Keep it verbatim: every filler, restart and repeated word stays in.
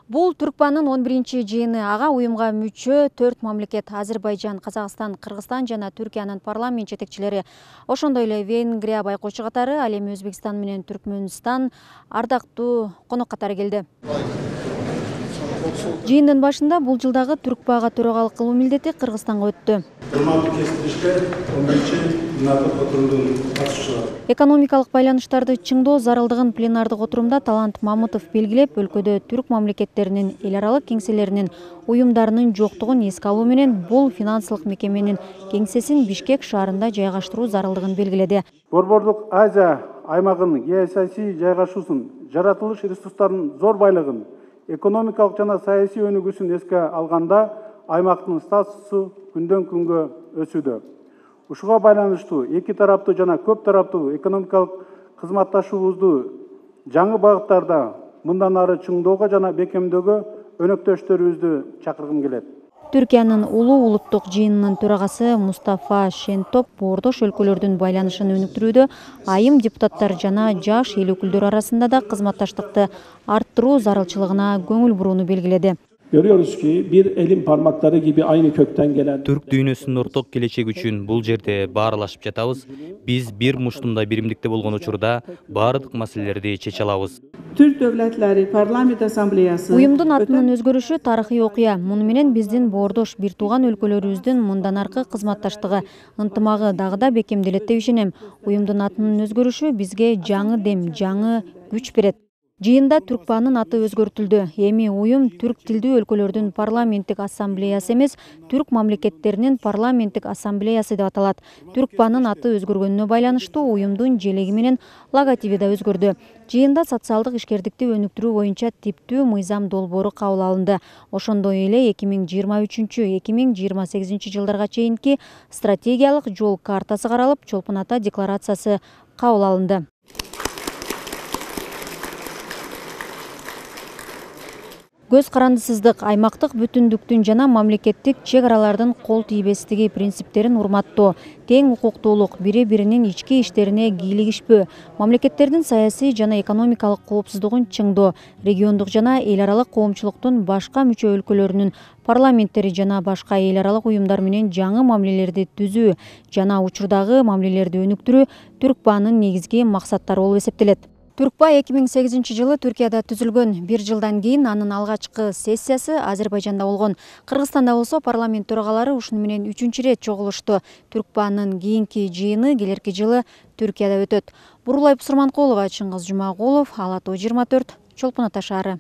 Бул Түркбанын он биринчи жыйыны. Ага уюмга мүчө төрт мамлекет — Азербайжан, Казакстан, Кыргызстан жана Түркиянын парламент жетекчилери, ошондой эле Венгрия байкоочу катары, ал эми Өзбекстан менен Түркмөнстан ардактуу конок катары келди. Жыйындын башында бул жылдагы Түркбага төрагалык кылуу милдети Кыргызстанга өттү. Экономикалык байланыштарды чыңдоо зарылдыгын пленардык отурумда Талант Мамытов белгилеп, өлкөдө түрк мамлекеттеринин эл аралык кеңселеринин уюмдарынын жоктугун эске алуу менен бул финансылык мекеменин кеңсесин Бишкек шаарында жайгаштыруу зарылдыгын белгиледи. Борбордук Азия аймагынын геосаясий жайгашуусун, жаратылыш ресурстарынын зор байлыгын, экономикалык жана саясий өнүгүүсүн эске алганда аймактын статусу күндөн күнгө өсүүдө. Ушуга байланыштуу эки тараптуу жана көп тараптуу экономикалык кызматташуубузду жаңы багыттарда мындан ары чыңдоого жана бекемдөөгө өнөктөштөрүбүздү чакыргым келет. Түркиянын улуу улуттук жыйынынын төрагасы Мустафа Шентоп боордош өлкөлөрдүн байланышын өнүктүрүүдө айым депутаттар жана жаш эл өкүлдөрү арасында да кызматташтыкты арттыруу зарылчылыгына көңүл бурууну белгиледи. Görüyoruz ki bir elin parmakları gibi aynı kökten gelen Türk дүйнөсүнүн орток келечеги үчүн бул жерде баарлашып жатабыз. Биз бир муштумда биримдикте болгон учурда баардык маселелерди чече алабыз. Türk Devletleri Parlament Asambleyası Уюмдун атынын өзгөрүшү тарыхый окуя. Муну менен биздин боордош бир тууган өлкөлөрүбүздүн мындан аркы кызматташтыгы, ынтымагы дагы да бекемделет деп ишенем. Уюмдун атынын өзгөрүшү бизге жаңы дем, жаңы күч берет. Жыйында Түркбанын аты өзгөртүлдү. Эми уюм түрк тилдүү өлкөлөрдүн парламенттик ассамблеясы эмес, түрк мамлекеттеринин парламенттик ассамблеясы деп аталат. Түркбанын аты өзгөргөнүнө байланыштуу уюмдун желеги менен логотиби да өзгөрдү. Жыйында социалдык ишкердикти өнүктүрүү боюнча типтүү мыйзам долбоору кабыл алынды. Ошондой эле эки миң жыйырма үчүнчү — эки миң жыйырма сегизинчи жылдарга чейинки стратегиялык жол картасы каралып, Чолпон Ата декларациясы кабыл алынды. Көз карандысыздык, аймактык бүтүндүктүн жана мамлекеттик чек аралардын кол тийбестиги принциптерин урматтоо, тең укуктуулук, бири-биринин ички иштерине кийлигишпөө, мамлекеттердин саясий жана экономикалык коопсуздугун чыңдоо, региондук жана эл аралык коомчулуктун башка мүчө өлкөлөрүнүн парламенттери жана башка эл аралык уюмдар менен жаңы мамилелерди түзүү жана учурдагы мамилелерди өнүктүрүү Түркбанын негизги максаттары болуп эсептелет. Түркба эки миң сегизинчи жылы Түркияда түзүлгөн. Бир жылдан кийин анын алгачкы сессиясы Азербайжанда болгон. Кыргызстанда болсо парламент төрагалары ушуну менен үчүнчү ирет чогулушту. Түркбанын кийинки жыйыны келерки жылы Түркияда өтөт. Бурулай Пусурманкулова, Чыңгыз Жумагулов, Ала Тоо жыйырма төрт, Чолпон Ата шаары.